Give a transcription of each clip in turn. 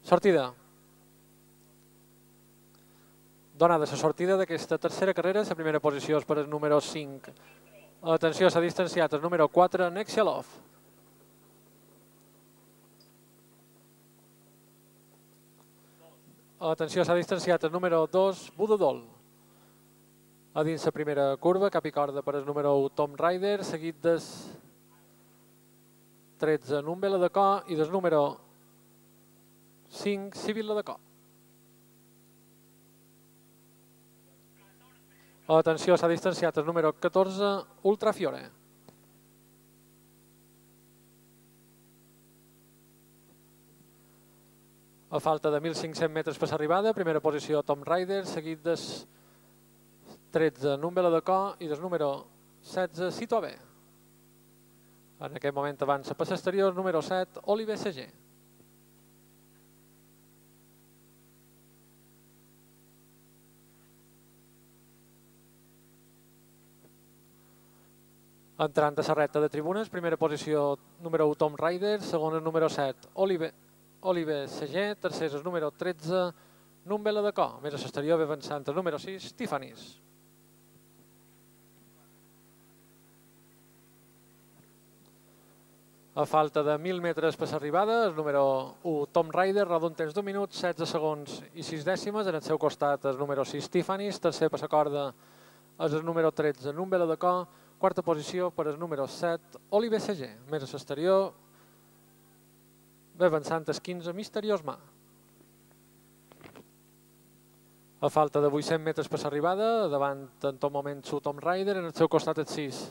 Sortida. Donada la sortida d'aquesta tercera carrera, la primera posició és per el número 5. Atenció, s'ha distanciat el número 4, Nexialov. Atenció, s'ha distanciat el número 2, Budodol. A dins la primera curva, cap i corda per el número 1, Tom Ryder, seguit del 13, Numbela de Co, i del número 5, Sibilla de Co. Atenció, s'ha distanciat el número 14, Ultrafiore. A falta de 1.500 metres per l'arribada, primera posició Tom Ryder, seguit del 13, Numbela de Co, i del número 16, Citobe. En aquest moment avança per l'exterior, número 7, Oliver Seger. Entrant a la recta de tribunes, primera posició número 1, Tom Ryder, segon el número 7, Oliver Seger, tercer el número 13, Numbela de Co. Més a l'exterior ve avançant el número 6, Tiffany's. A falta de 1.000 metres per l'arribada, el número 1, Tom Ryder, roda un temps d'1 minut, 16 segons i 6 dècimes. En el seu costat el número 6, Tiffany's. Tercer per la corda és el número 13, Numbela de Co. Quarta posició per el número 7, Oliver Seger. Més a l'exterior ve avançant el 15, Misteriós Ma. A falta de 800 metres per l'arribada, davant en tot moment su Tom Ryder, en el seu costat el 6,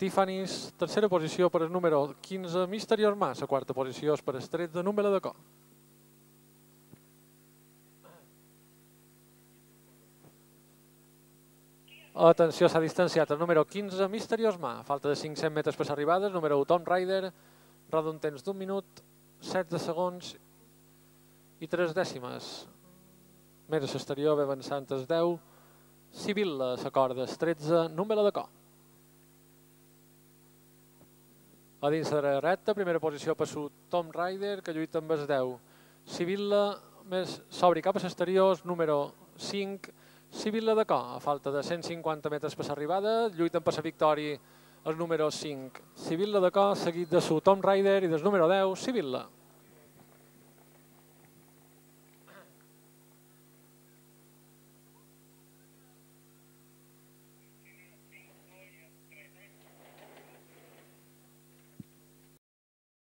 Tiffany's. Tercera posició per el número 15, Misteriós Ma. La quarta posició és per el 13, Numbela de Co. Atenció, s'ha distanciat el número 15, Misteriós Ma. Falta de 500 metres per l'arribada, el número 1, Tom Ryder, roda un temps d'1 minut, 16 segons i 3 dècimes. Més a l'exterior ve avançant el 10, Sibilla, la corda, el 13, Numbela de Co. A dins de la recta, primera posició per su Tom Ryder, que lluita amb el 10. Sibilla, més s'obri cap a l'exterior, número 5, Sibilla de Co. A falta de 150 metres per l'arribada, lluiten per la victòria el número 5, Sibilla de Co, seguit de su Tom Ryder, i del número 10, Sibilla.